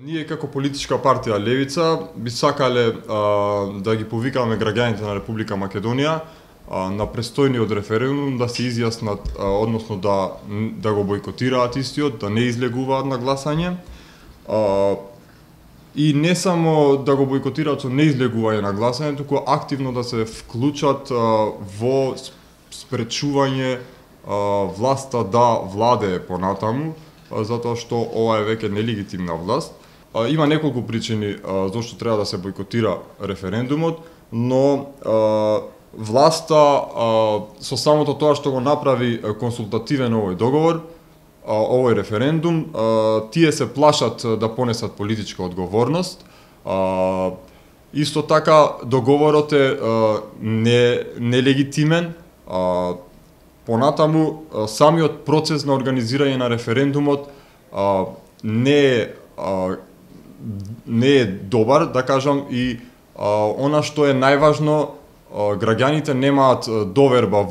Ние како политичка партија Левица би сакале да ги повикаме граѓаните на Република Македонија на престојниот референдум да се изјаснат, односно да го бойкотираат истиот, да не излегуваат на гласање. И не само да го бойкотираат со неизлегување на гласање, туку активно да се вклучат во спречување власта да владее понатаму, затоа што ова е веќе нелегитимна власт. Има неколку причини зашто треба да се бойкотира референдумот, но власта со самото тоа што го направи консултативен овој договор, овој референдум, тие се плашат да понесат политичка одговорност. Исто така договорот е нелегитимен. Понатаму самиот процес на организирање на референдумот не е добар, да кажам, и она што е најважно, граѓаните немаат доверба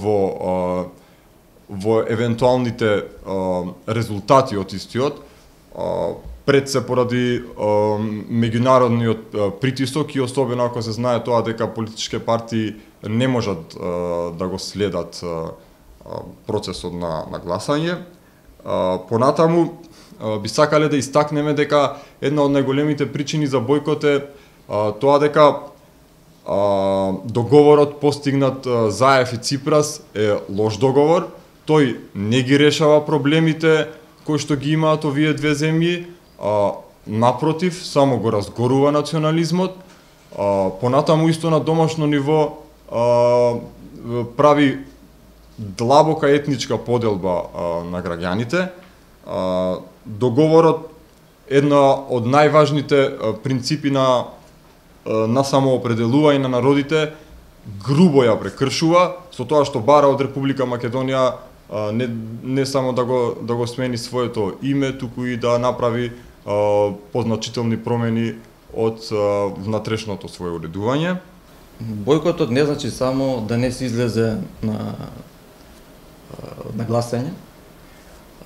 во евентуалните резултати од истиот, пред се поради меѓународниот притисок и особено ако се знае тоа дека политички партии не можат да го следат процесот на гласање. Понатаму би сакале да истакнеме дека една од најголемите причини за бойкот е тоа дека договорот постигнат Заев и Ципрас е лош договор. Тој не ги решава проблемите кои што ги имаат овие две земји, напротив, само го разгорува национализмот. Понатаму исто на домашно ниво прави длабока етничка поделба на граѓаните. Договорот една од најважните принципи на самоопределување на народите грубо ја прекршува со тоа што бара од Република Македонија не само да го смени своето име, туку и да направи позначителни промени од внатрешното свое уредување. Бојкотот не значи само да не се излезе на гласање.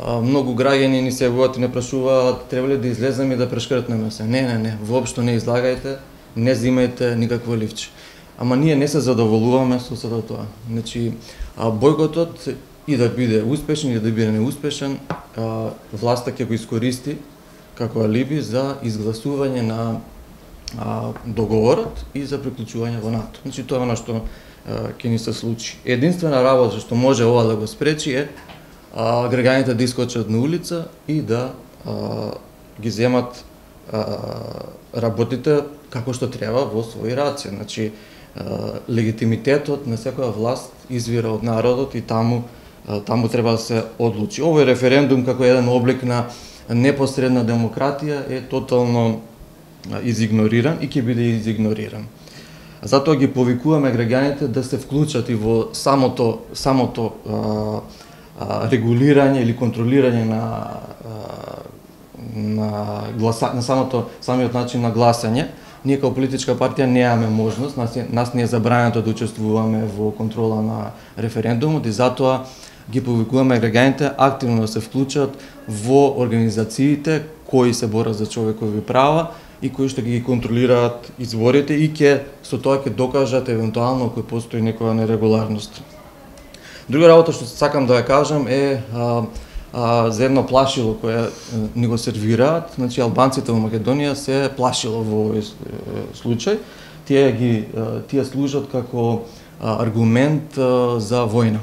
Многу граѓани ни се јавуваат и не прашуваат треба ли да излеземе и да прешкртнеме се. Не, воопшто не излагајте, не земајте никакво ливче. Ама ние не се задоволуваме со сето тоа. Значи, бојкотот и да биде успешен и да биде неуспешен, власта ќе го искористи како алиби за изгласување на договорот и за приклучување во НАТО. Значи, тоа е она што ќе ни се случи. Единствена работа што може ова да го спречи е граѓаните да искочат на улица и да ги земат работите како што треба во своји раце. Значи, легитимитетот на секоја власт извира од народот и таму треба да се одлучи. Овој референдум како еден облик на непосредна демократија е тотално изигнориран и ќе биде изигнориран. Затоа ги повикуваме граѓаните да се вклучат и во самото регулирање или контролирање на самиот начин на гласање. Ние како политичка партија немаме можност, нас не е забрането да учествуваме во контрола на референдумот и затоа ги повикуваме граѓаните активно да се вклучат во организациите кои се борат за човекови права и кои што ги контролираат изборите и со тоа ќе докажат евентуално кој постои некоја нерегуларност. Друга работа што сакам да ја кажам е за едно плашило кое ни го сервираат. Значи, албанците во Македонија се плашило во овој случај. Тие служат како аргумент за војна.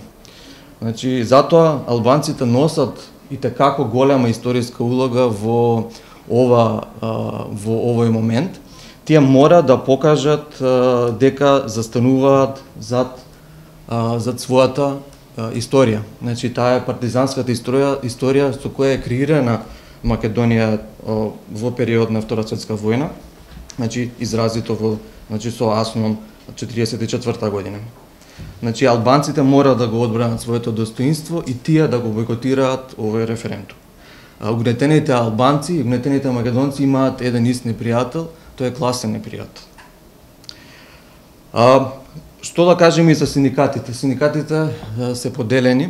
Значи, затоа албанците носат и како голема историска улога во овој момент. Тие мора да покажат дека застануваат зад својата историја. Значи, таа е партизанската историја со која е креирана Македонија во период на Втора светска војна. Значи, изразито со Асмон 44 година. Значи, албанците мора да го одбранат своето достоинство и тие да го бойкотираат овој референдум. Угнетените албанци и угнетените македонци имаат еден ист непријател, тој е класен непријател. Што да кажеме и за синдикатите? Синдикатите се поделени,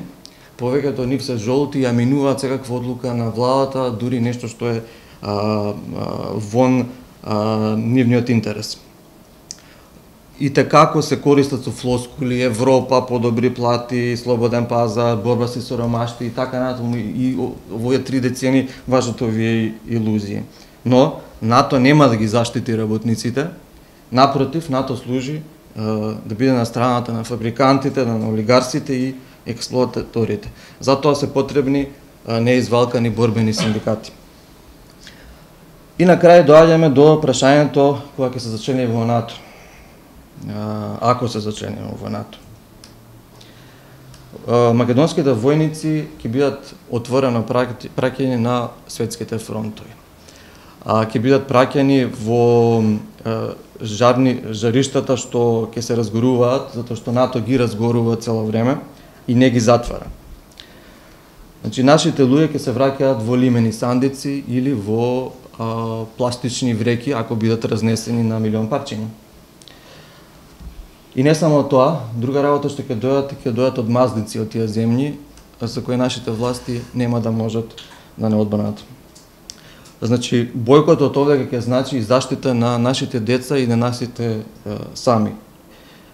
повеќето од нив се жолти и ја минуваат секаква одлука на владата, дури нешто што е вон нивниот интерес. И како се користат со флоскули, Европа, подобри плати, слободен пазар, борба со сиромаштво и така натаму, и овие 3 децени важат овие илузии. Но НАТО нема да ги заштити работниците, напротив, НАТО служи да биде на страната на фабрикантите, на олигарсите и експлоататорите. Затоа се потребни неизвалкани борбени синдикати. И на крај доаѓаме до прашањето кога ќе се зачлени во НАТО. Ако се зачлени во НАТО. Македонските војници ќе бидат отворено праќани на светските фронтови. Ќе бидат праќани во жариштата што ќе се разгоруваат, затоа што НАТО ги разгорува цело време и не ги затвара. Значи, нашите луѓе ќе се враќаат во лимени сандици или во пластични вреки, ако бидат разнесени на милион парчиња. И не само тоа, друга работа што ќе дојдат од маздици од тие земји, за кои нашите власти нема да можат да не одбранат. Значи, бојкотот овде ќе значи и заштита на нашите деца и на нашите сами.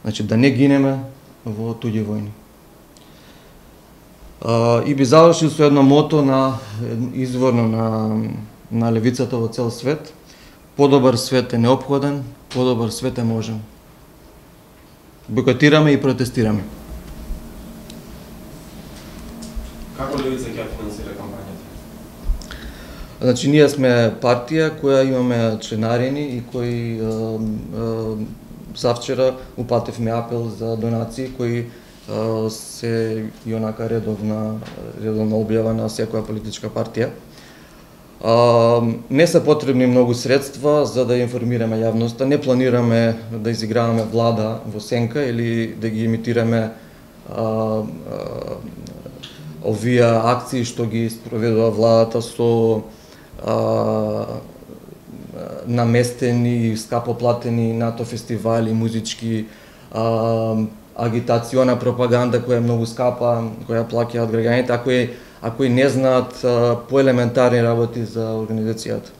Значи, да не гинеме во туѓи војни. И би завршил со едно мото изворно на левицата во цел свет. Подобар свет е неопходен, подобар свет е можен. Бойкотираме и протестираме. Како левица ќе финансира кампањата? Значи, ние сме партија која имаме членарини и кои завчера упативме апел за донации кои се и онака редовна објава на секоја политичка партија. Не се потребни многу средства за да информираме јавноста. Не планираме да изиграваме влада во сенка или да ги имитираме овие акции што ги спроведува владата со наместени и скапо платени НАТО фестивали, музички, агитациона пропаганда која е многу скапа, која плаќаат граѓаните, а кои не знаат поелементарни работи за организацијата.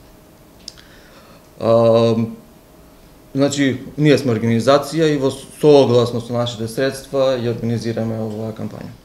Значи, ние сме организација и во согласно со нашите средства ја организираме оваа кампања.